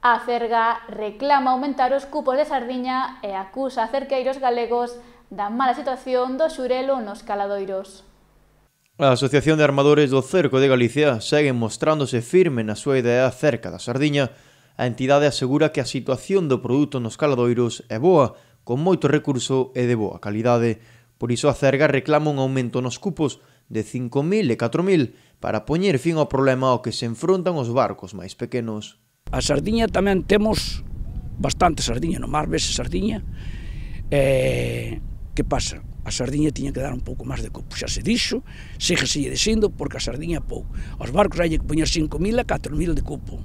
A Acerga reclama aumentar os cupos de sardiña e acusa a cerqueiros galegos da mala situación do xurelo nos caladoiros. A Asociación de Armadores do Cerco de Galicia segue mostrándose firme na súa idea acerca da sardiña. A entidade asegura que a situación do produto nos caladoiros é boa, con moito recurso e de boa calidade. Por iso a Acerga reclama un aumento nos cupos de 5.000 e 4.000 para poñer fin ao problema ao que se enfrontan os barcos máis pequenos. A sardiña tamén temos bastante sardiña no mar, vese sardiña. Que pasa? A sardiña tiña que dar un pouco máis de cupo, xa se dixo, síguese dicindo, porque a sardiña é pouco. Os barcos hai que poñer 5.000 a 4.000 de cupo.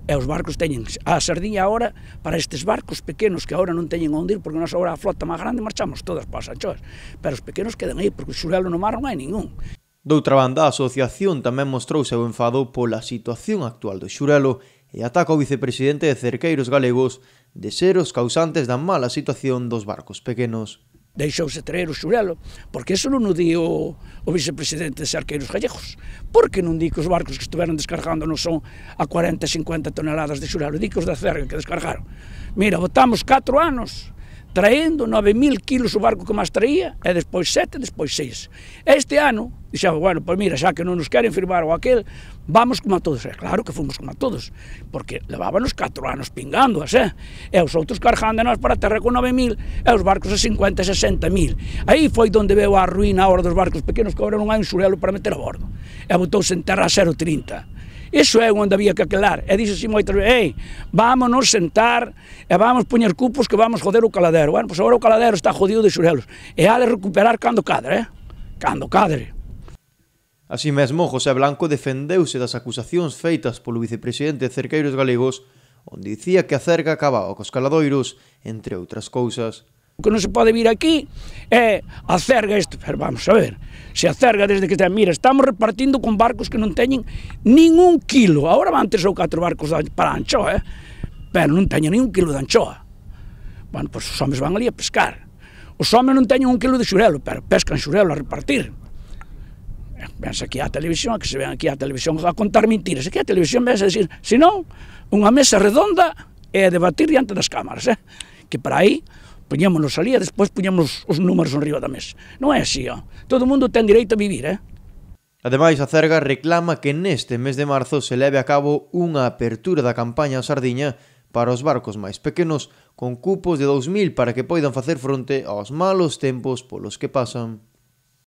E os barcos teñen a sardiña agora, para estes barcos pequenos que agora non teñen onde ir, porque nós agora a flota máis grande marchamos todas para as anchoas, pero os pequenos quedan aí, porque o xurelo no mar non hai ningún. Doutra banda, a asociación tamén mostrou seu enfado pola situación actual do xurelo e ataca o vicepresidente de Cerqueiros Galegos de ser os causantes da mala situación dos barcos pequenos. Deixouse traer o xurelo, porque eso non o di o vicepresidente de Cerqueiros Gallegos. Por que non di que os barcos que estiveron descargando non son a 40-50 toneladas de xurelo? Di que os da Cerga que descargaron. Mira, botamos 4 anos traendo 9.000 kilos o barco que máis traía, e despois 7, despois 6. Este ano, dixemos, bueno, pois mira, xa que non nos queren firmar o aquel, vamos como a todos. E claro que fomos como a todos, porque levábanos 4 anos pingándoas, e os outros cargándonos para a terra con 9.000, e os barcos a 50 e 60.000. Aí foi donde veo a ruína a hora dos barcos pequenos, que agora non hai un xurelo para meter a bordo. E botouse en terra a 0,30. Iso é onde había que aquelar. E dixo así moitas veces, vámonos sentar e vamos poñer cupos que vamos joder o caladero. Bueno, pois agora o caladero está jodido de xurelos. E ha de recuperar cando cadre, cando cadre. Así mesmo, José Blanco defendeuse das acusacións feitas polo vicepresidente de Cerqueiros Galegos, onde dicía que a Cerga acababa cos caladoiros, entre outras cousas. O que non se pode vir aquí é a Cerga isto, pero vamos a ver, se a Cerga desde que ten, mira, estamos repartindo con barcos que non teñen nin un kilo, agora van 3 ou 4 barcos para a anchoa, pero non teñen nin un kilo de anchoa. Bueno, pois os homes van ali a pescar, os homes non teñen un kilo de xurelo, pero pescan xurelo a repartir. Vense aquí á televisión, que se ven aquí á televisión a contar mentiras, aquí á televisión vense a decir, senón, unha mesa redonda e a debatir diante das cámaras, que para aí poñémonos ali e despois poñemos os números enriba da mesa. Non é así, todo o mundo ten direito a vivir, Ademais, a Cerga reclama que neste mes de marzo se leve a cabo unha apertura da campaña sardiña para os barcos máis pequenos, con cupos de 2.000 para que poidan facer fronte aos malos tempos polos que pasan.